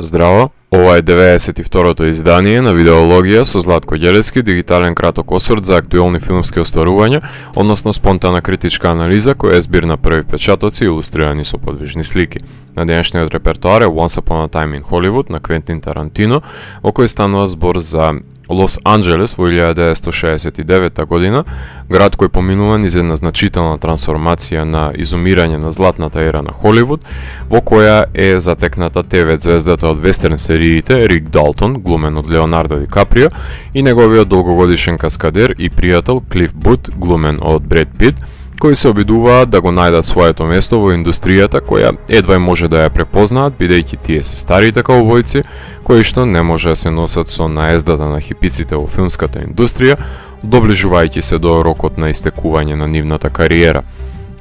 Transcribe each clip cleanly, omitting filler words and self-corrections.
Здраво, ова е 92-то издание на Видеологија со Златко Ѓелевски, дигитален краток осврт за актуелни филмски остварувања, односно спонтана критичка анализа која е збир на први печатоци илустрирани со подвижни слики. На денешниот репертоар е Once Upon a Time in Hollywood на Квентин Тарантино, во кој станува збор за Лос Анџелес во 1969 година, град кој поминува низ една значителна трансформација на изумирање на златната ера на Холивуд, во која е затекната ТВ звездата од вестерн сериите Рик Далтон, глумен од Леонардо Ди Каприо, и неговиот долгогодишен каскадер и пријател Клиф Бут, глумен од Бред Пит, кои се обидуваат да го најдат своето место во индустријата која едва може да ја препознаат, бидејќи тие се старите каубојци, кои што не може да се носат со наездата на хипиците во филмската индустрија, доближувајќи се до рокот на истекување на нивната кариера.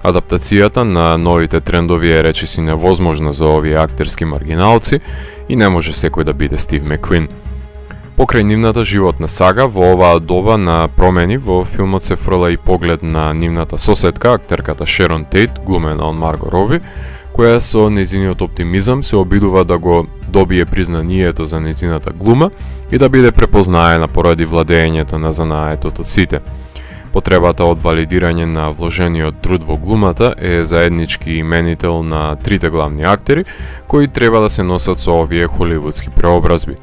Адаптацијата на новите трендови е речиси невозможна за овие актерски маргиналци и не може секој да биде Стив Макквин. Покрај нивната животна сага, во оваа доба на промени, во филмот се фрла и поглед на нивната соседка, актерката Шерон Тейт, глумена од Марго Роби, која со нејзиниот оптимизам се обидува да го добие признанието за нејзината глума и да биде препознаена поради владењето на занаетот од сите. Потребата од валидирање на вложениот труд во глумата е заеднички именител на трите главни актери, кои треба да се носат со овие холивудски преобразби.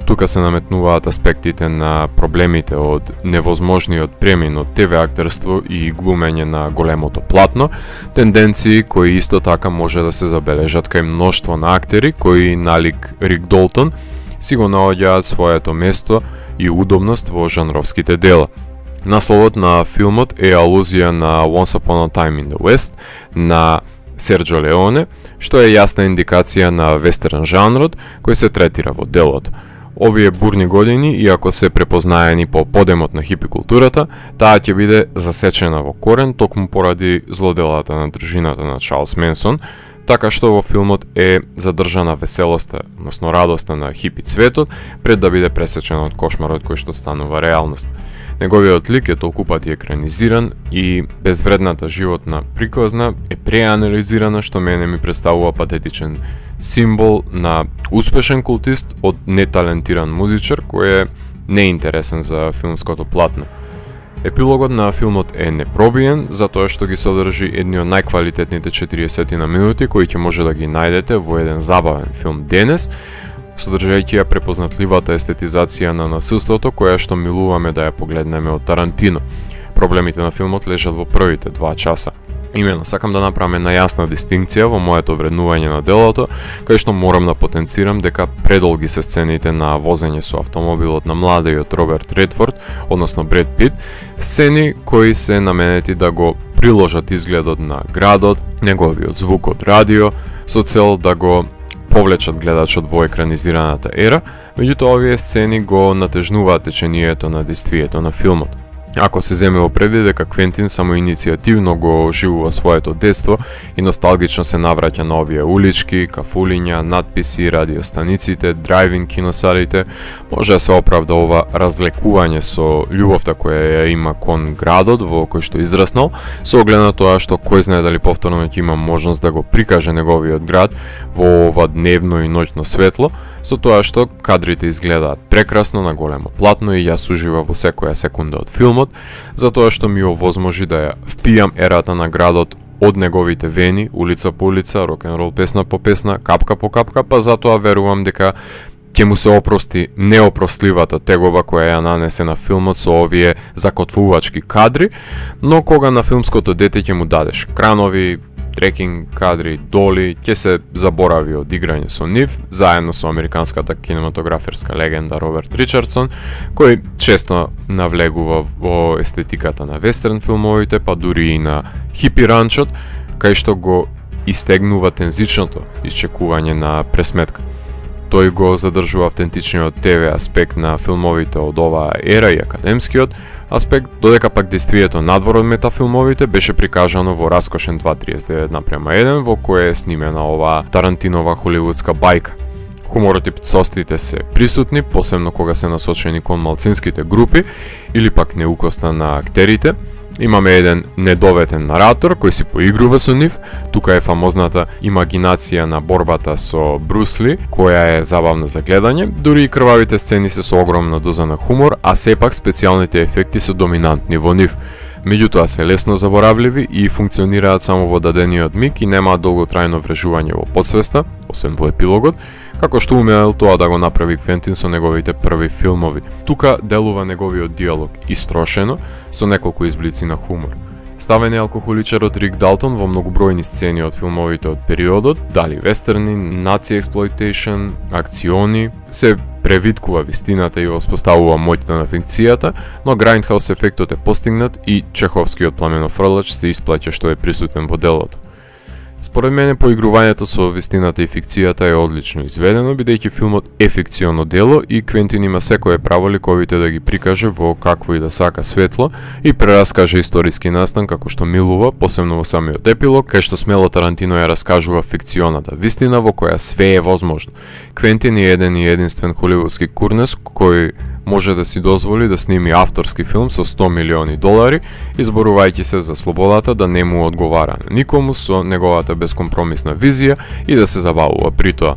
Тука се наметнуваат аспектите на проблемите од невозможниот премин од ТВ актерство и глумење на големото платно, тенденции кои исто така може да се забележат кај мноштво на актери кои, налик Рик Долтон, си го наоѓаат своето место и удобност во жанровските дела. Насловот на филмот е алузија на Once Upon a Time in the West на Серджо Леоне, што е јасна индикација на вестерн жанрот кој се третира во делото. Овие бурни години, иако се препознаени по подемот на хипи културата, таа ќе биде засечена во корен токму поради злоделата на дружината на Чарлс Менсон, така што во филмот е задржана веселоста, односно радоста на хипи цветот, пред да биде пресечена од кошмарот кој што станува реалност. Неговиот лик е толку пати екранизиран и безвредната животна приказна е преанализирана, што мене ми представува патетичен символ на успешен култист од неталентиран музичар кој е неинтересен за филмското платно. Епилогот на филмот е непробиен, затоа што ги содржи едни од најквалитетните 40 минути кои ќе може да ги најдете во еден забавен филм денес, содржајќи ја препознатливата естетизација на насилството која што милуваме да ја погледнеме од Тарантино. Проблемите на филмот лежат во првите 2 часа. Имено, сакам да направам една јасна дистинкција во моето вреднување на делото, кај што морам да потенцирам дека предолги се сцените на возење со автомобилот на младиот Роберт Редфорд, односно Бред Пит, сцени кои се наменети да го приложат изгледот на градот, неговиот звук од радио, со цел да го повлечат гледачот во екранизираната ера, меѓутоа овие сцени го натежнуваат течението на действието на филмот. Ако се земе во предвид дека Квентин само иницијативно го оживува своето детство и носталгично се навраќа на овие улички, кафулиња, надписи, радиостаниците, драйвин киносалите, може да се оправда ова разлекување со љубовта која ја има кон градот во кој што израснал, со оглед на тоа што кој знае дали повторно ќе има можност да го прикаже неговиот град во ова дневно и ноќно светло, со тоа што кадрите изгледаат прекрасно на големо платно и јас уживам во секоја секунда од филмот, затоа што ми овозможи да ја впијам ерата на градот од неговите вени, улица по улица, рок-н-рол песна по песна, капка по капка, па затоа верувам дека ќе му се опрости неопростливата тегоба која ја нанесе на филмот со овие закотвувачки кадри, но кога на филмското дете ќе му дадеш кранови, трекинг кадри, доли, ќе се заборави од играње со нив, заедно со американската кинематограферска легенда Роберт Ричардсон, кој често навлегува во естетиката на вестерн филмовите, па дури и на хипи ранчот, кај што го истегнува тензичното исчекување на пресметка. Тој го задржува автентичниот ТВ аспект на филмовите од оваа ера и академскиот аспект, додека пак действието надвор од метафилмовите беше прикажано во раскошен 2:39:1, во кој е снимена оваа Тарантинова холивудска бајка. Хуморот и пцостите се присутни, посебно кога се насочени кон малцинските групи или пак неукоста на актерите, Имаме еден недоветен наратор кој си поигрува со нив. Тука е фамозната имагинација на борбата со Брус Ли, која е забавна за гледање. Дури и крвавите сцени се со огромна доза на хумор, а сепак специјалните ефекти се доминантни во нив. Меѓутоа се лесно заборавливи и функционираат само во дадениот миг и немаат долготрајно врежување во потсвеста, освен во епилогот, како што умеел тоа да го направи Квентин со неговите први филмови. Тука делува неговиот диалог истрошено, со неколку изблици на хумор. Ставен е алкохоличарот Рик Далтон во многобројни сцени од филмовите од периодот, дали вестерни, наци експлоитейшн, акциони, се превиткува вистината и воспоставува моќта на фикцијата, но Грајндхаус ефектот е постигнат и чеховскиот пламенофрлач се исплаќа што е присутен во делото. Според мене поигрувањето со вистината и фикцијата е одлично изведено, бидејќи филмот е фикционо дело и Квентин има секое право ликовите да ги прикаже во какво и да сака светло и прераскаже историски настан како што милува, посебно во самиот епилог, кај што смело Тарантино ја раскажува фикционата вистина во која све е возможно. Квентин е еден и единствен холивудски курнес кој може да си дозволи да сними авторски филм со $100 милиони, изборувајќи се за слободата да не му одговара на никому со неговата бескомпромисна визија и да се забавува при тоа.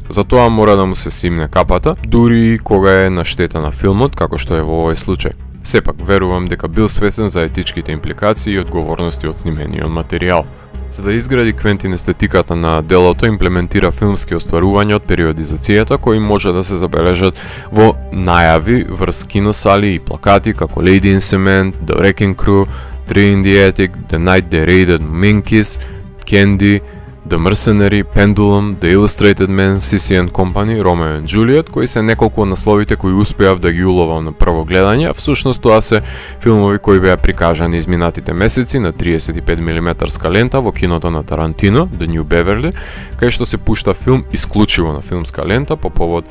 Затоа мора да му се симне капата, дури и кога е на штета на филмот, како што е во овој случај. Сепак, верувам дека бил свесен за етичките импликации и одговорности од снимениот материјал. За да изгради Квентин естетиката на делото, имплементира филмски остварувања од периодизацијата кои може да се забележат во најави врз киносали и плакати како Lady in Cement, The Wrecking Crew, Three in the Attic, The Night They Raided Minkies, Candy, The Mercenary, Pendulum, The Illustrated Man, Sissy and Company, Romeo and Juliet, кои се неколку од насловите кои успеав да ги уловам на прво гледање, а всушност тоа се филмови кои беа прикажани изминатите месеци на 35 мм лента во киното на Тарантино, The New Beverly, кај што се пушта филм исклучиво на филмска лента по повод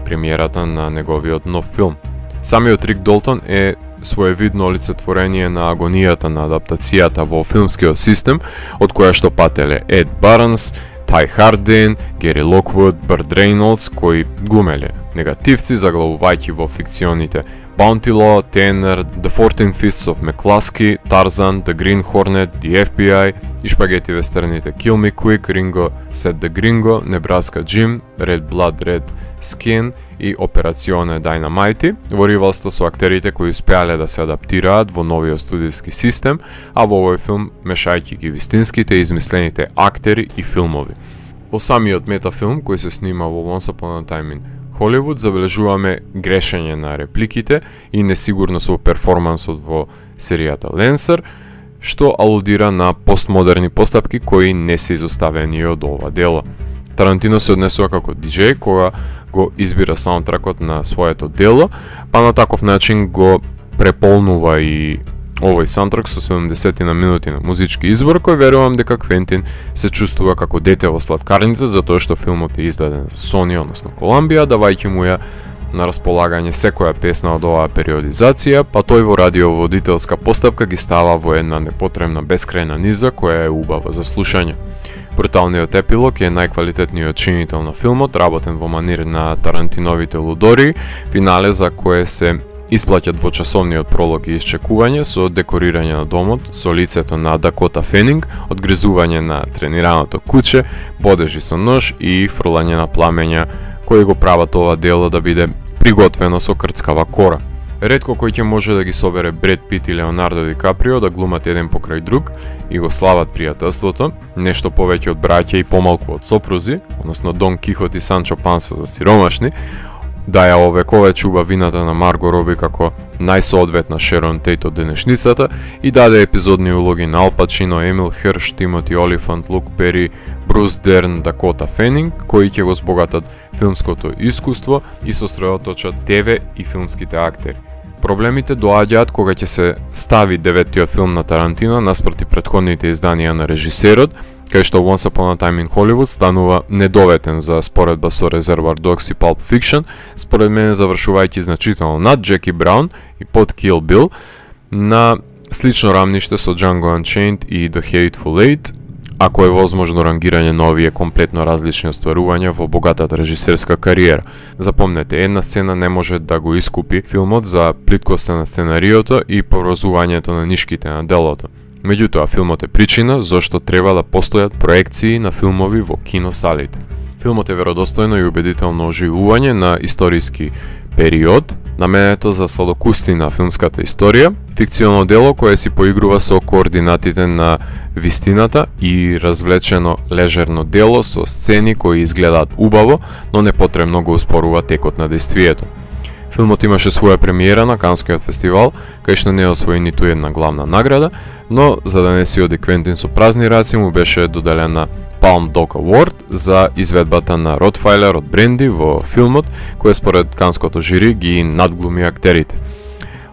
премиерата на неговиот нов филм. Самиот Рик Далтон е своевидно олицетворение на агонијата на адаптацијата во филмскиот систем, од која што пателе Ед Барнс, Тај Хардин, Гери Локвуд, Берт Рейнолдс, кои глумеле негативци заглавувајќи во фикционите Bounty Law, Tanner, The 14 Fists of McCluskey, Tarzan, The Green Hornet, The FBI и шпагети вестерните Kill Me Quick, Ringo Said the Gringo, Nebraska Jim, Red Blood, Red Skin и Операционе Dynamite, во ривалство со актерите кои успеале да се адаптираат во новиот студиски систем, а во овој филм мешајќи ги вистинските и измислените актери и филмови. Во самиот метафилм кој се снима во Once Upon a Time in Холивуд забележуваме грешење на репликите и несигурност во перформансот во серијата Ленсер, што алудира на постмодерни постапки кои не се изоставени од ова дело. Тарантино се однесува како диџеј кога го избира саундтракот на своето дело, па на таков начин го преполнува и овој саундтрак со 70 на минути на музички избор, кој верувам дека Квентин се чувствува како дете во сладкарница затоа што филмот е издаден за Sony, односно Колумбија, давајќи му ја на располагање секоја песна од оваа периодизација, па тој во радиоводителска постапка ги става во една непотребна бескрајна низа која е убава за слушање. Бруталниот епилог е најквалитетниот чинител на филмот, работен во манир на Тарантиновите лудори, финале за кое се исплаќа двочасовниот пролог и исчекување со декорирање на домот, со лицето на Дакота Фенинг, одгризување на тренираното куче, бодежи со нож и фрлање на пламења кои го прават ова дело да биде приготвено со крцкава кора. Ретко кој ќе може да ги собере Бред Пит и Леонардо Ди Каприо да глумат еден покрај друг и го слават пријателството, нешто повеќе од браќа и помалку од сопрузи, односно Дон Кихот и Санчо Панса за сиромашни, да ја овековечи убавината на Марго Роби како најсоодветна Шерон Тейт од денешницата и даде епизодни улоги на Ал Пачино, Емил Херш, Тимоти Олифант, Лук Пери, Брус Дерн, Дакота Фенинг, кои ќе го збогатат филмското искуство и сосредоточат ТВ и филмските актери. Проблемите доаѓаат кога ќе се стави деветиот филм на Тарантино наспроти претходните изданија на режисерот, кај што Once Upon a Time in Hollywood станува недоветен за споредба со Reservoir Dogs и Pulp Fiction, според мене завршувајќи значително над Джеки Браун и под Kill Bill, на слично рамниште со Django Unchained и The Hateful Eight, ако е возможно рангирање на овие комплетно различни остварувања во богатата режисерска кариера. Запомнете, една сцена не може да го искупи филмот за плиткоста на сценариото и поврзувањето на нишките на делото. Меѓутоа, филмот е причина зошто треба да постојат проекции на филмови во киносалите. Филмот е веродостојно и убедително оживување на историски период, наменето за сладокуsti на филмската историја, фикционално дело кое си поигрува со координатите на вистината и развлечено лежерно дело со сцени кои изгледаат убаво, но непотребно го успорува текот на дејствието. Филмот имаше своја премиера на Канскиот фестивал, кај што не освои ниту една главна награда, но за да не си оди Квентин со празни раци му беше доделена Palm Dog Award за изведбата на Ротфайлер од Бренди во филмот, кој според канското жири ги надглуми актерите.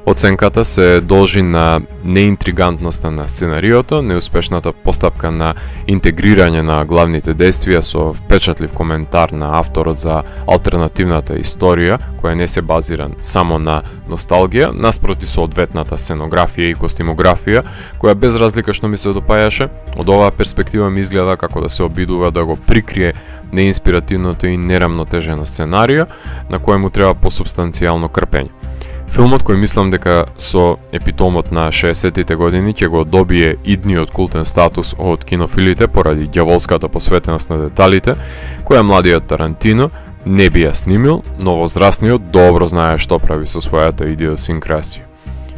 Оценката се должи на неинтригантноста на сценариото, неуспешната постапка на интегрирање на главните действија со впечатлив коментар на авторот за алтернативната историја, која не се базира само на носталгија, наспроти со одветната сценографија и костимографија, која без разлика што ми се допајаше, од оваа перспектива ми изгледа како да се обидува да го прикрие неинспиративното и нерамнотежено сценарио, на кое му треба посубстанцијално крпење. Филмот кој мислам дека со епитомот на 60-тите години ќе го добие идниот култен статус од кинофилите поради ѓаволската посветеност на деталите, која младиот Тарантино не би ја снимил, но возрастниот добро знае што прави со својата идиосинкрасија.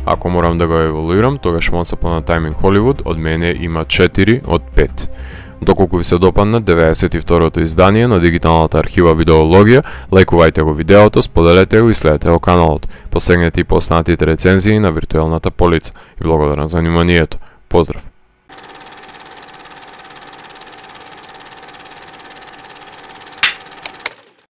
Ако морам да го еволуирам, тогаш Once Upon a Time in Hollywood од мене има 4 од 5. Доколку ви се допадна 92-то издание на дигиталната архива Видеологија, лајкувајте го видеото, споделете го и следете го каналот. Посегнете и по останатите рецензии на виртуелната полица. И благодарам за вниманието. Поздрав!